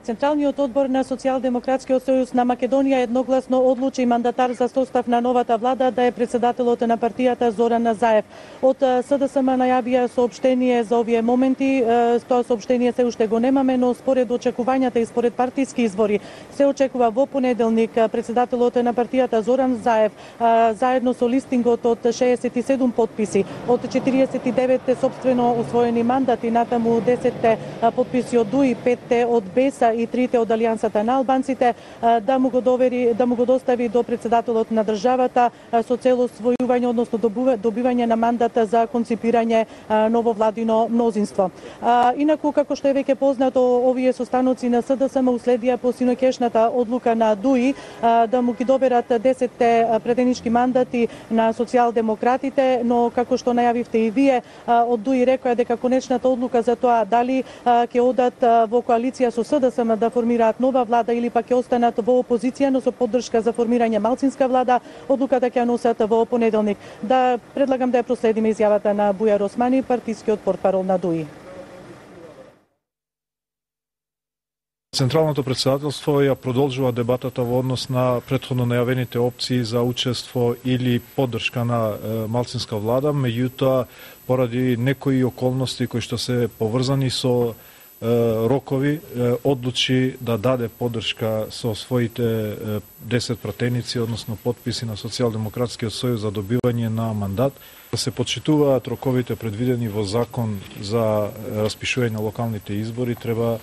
Централниот одбор на Социјалдемократскиот сојуз на Македонија едногласно одлучи мандатар за состав на новата влада да е председателот на партијата Зоран Заев. Од СДСМ најавија соопштение за овие моменти. Тоа соопштение се уште го немаме, но според очекувањата и според партиски извори се очекува во понеделник председателот на партијата Зоран Заев заедно со листингот од 67 потписи од 49 собствено освоени мандати, натаму 10 потписи од ДУИ, 5 од БЕСА и 3 од Алијансата на албанците, да му го достави до председателот на државата со цел освојување, односно добивање на мандат за конципирање ново владино мнозинство. Инаку, како што е веќе познато, овие состаноци на СДСМ уследија по синоќешната одлука на ДУИ да му ги доберат 10 претенички мандати на социјалдемократите, но како што најавивте и вие, од ДУИ рекоа дека конечната одлука за тоа дали ќе одат во коалиција со СДСМ да формираат нова влада или пак ќе останат во опозиција, но со поддршка за формирање малцинска влада, одлуката ќе ја носат во понеделник. Да предлагам да ја проследиме изјавата на Бујар Османи, партискиот портпарол на ДУИ. Централното претседателство ја продолжува дебатата во однос на претходно најавените опции за учество или поддршка на малцинска влада, меѓутоа поради некои околности кои што се поврзани со рокови, одлучи да даде поддршка со своите 10 пратеници, односно подписи на Социјалдемократскиот сојуз за добивање на мандат. Да се почитуваат роковите предвидени во закон за распишување на локалните избори, треба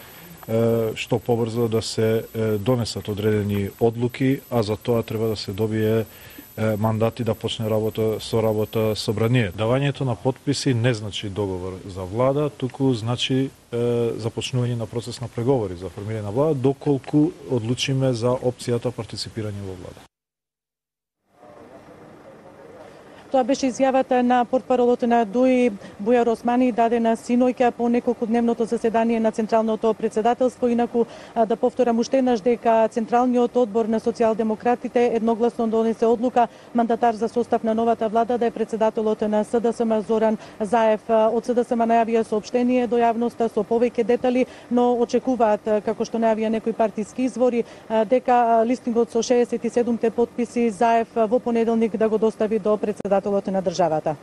што побрзо да се донесат одредени одлуки, а за тоа треба да се добие мандати да почне работа собрание. Давањето на потписи не значи договор за влада, туку значи започнување на процес на преговори за формирање на влада, доколку одлучиме за опцијата партиципирање во влада. Тоа беше изјавата на портпаролот на ДУИ Бујар Османи, дадена синоќа по неколкудневното заседание на Централното претседателство. Инаку да повторам уште еднаш дека Централниот одбор на социјалдемократите едногласно донесе одлука мандатар за состав на новата влада да е председателот на СДСМ Зоран Заев. Од СДСМ најавија соопштение до јавноста со повеќе детали, но очекуваат, како што најавија некои партиски извори, дека листингот со 67 потписи Заев во понеделник да го достави до председателот на државата.